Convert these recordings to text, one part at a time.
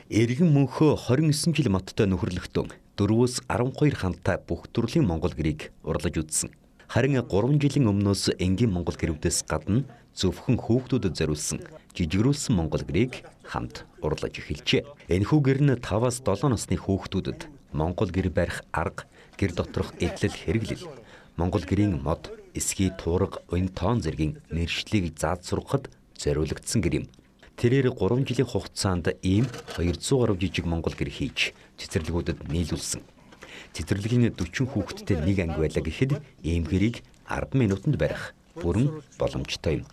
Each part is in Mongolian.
Эргэн мөнхөө 29 жил модтой нөхөрлөгтөн 4-өөс 12 хантай бүх төрлийн монгол гэрийг урлаж үзсэн. Харин 3 жилийн өмнөөс энгийн монгол гэрүүдээс гадна зөвхөн хүүхдүүдэд зориулсан жижигрүүлсэн монгол гэрийг хамт урлаж эхэлжээ. Энэхүү гэр нь 5-аас 7 насны хүүхдүүдэд монгол гэр барих арга, гэр доторх эдлэл хэрэглэл, монгол гэрийн мод, эсхий туурга, уян тоон зэргийн мэргэжлийг зааж сургахад зориулагдсан гэр юм. Тэрээр 3 жилийн хугацаанд ийм 200 гаруй жижиг монгол гэр хийж цэцэрлэгүүдэд нийлүүлсэн. Цэцэрлэгийн 40 хүүхэдтэй нэг анги байлаа гэхэд ийм гэрийг 10 минутанд барих бүрэн боломжтой юм.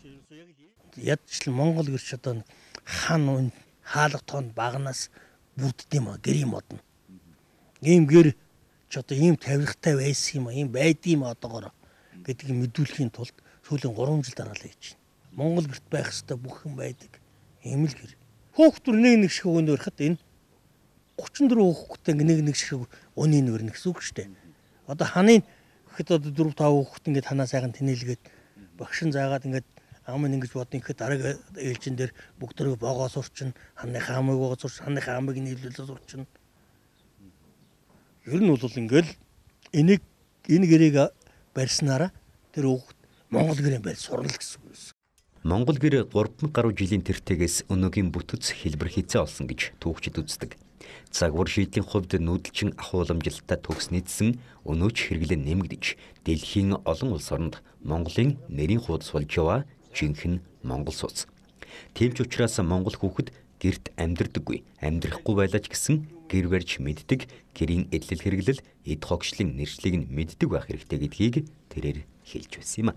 Ядчлан монгол гэр ч одоо хан уун хаалга тоон багнаас бүрддэм гэрийн модно. Ийм гэр ч одоо ийм тавиргатай байсан юм ийм байдığım одоогоор гэдгийг мэдүүлэхийн тулд сүүлийн 3 жил дараалал хийж байна. Монгол гэрт байх ёстой бүх юм байдаг. Ийм л гэр. Хүүхдүр нэг шиг өгөөнд барихад энэ 34 хүүхэдтэй нэг шиг өнийн өрнө гэсэн үг шүү дээ. Одоо ханыг гэхэд одоо 4-5 хүүхэд ингээд ханаа сайхан тэнэлгээд багшин заагаад ингээд ам ингэж бодно гэхэд дараагийн ээлжин дээр бүгд богоо сурчин, ханыхаа амыг богоо сурч, ханыхаа амыг нийлүүлээ сурчин. Ер нь бол ингээл энэ гэрийг барьснараа тэр хүүхэд монгол гэрийн барь сурна гэсэн үг юм. Монгол гэр 3 гаруй жилийн тэртегээс өнөөгийн бүтэц хэлбэр хийцээ олсон гэж түүхчид үздэг. Загвар шийдлийн хувьд нүүдэлчин ахууламжлалтай төгс нийцсэн өнөөч хэрэглэн нэмэгдэж дэлхийн олон улс оронд Монголын нэрийн хуудас болж яваа жинхэнэ монгол сүнс. Тийм ч учраас монгол хүүхэд гэрт амьдрдаггүй, амьдрахгүй байлаа ч гэсэн гэр барьж мэддэг, гэрийн эдлэл хэрэглэл, эд хогшлын нэршлиг нь мэддэг байх хэрэгтэй гэдгийг тэрээр хэлж байсан юм.